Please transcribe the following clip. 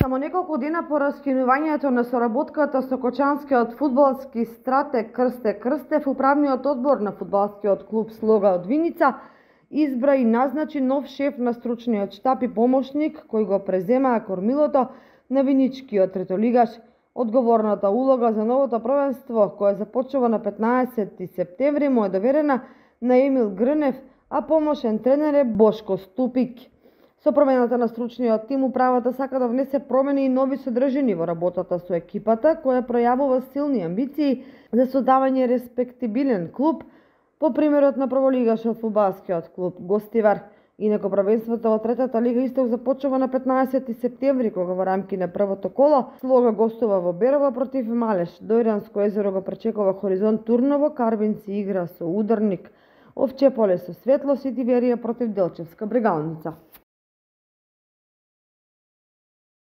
Само неколку дена по раскинувањето на соработката со кочанскиот фудбалски стратег Крсте Крстев, управниот одбор на фудбалскиот клуб Слога од Виница избра и назначи нов шеф на стручниот штаб и помошник кој го преземаа кормилото на виничкиот третолигаш. Одговорната улога за новото првенство, кое започнува на 15 септември, му е доверена на Емил Грнев, а помошен тренер е Бошко Ступик. Со промената на стручниот тим, управата сака да внесе промени и нови содржини во работата со екипата, која пројавува силни амбиции за создавање респектибилен клуб, по примерот на прволигашот фудбалскиот клуб Гостивар. Инаку првенството во третата лига Исток започнува на 15 септември, кога во рамки на првото коло Слога гостува во Берово против Малеш. Дојранско езеро го пречекува Хоризонт Турново, Карвин си игра со Ударник, Овче поле со Светло, Ситиверија против Делчевска Брегалница.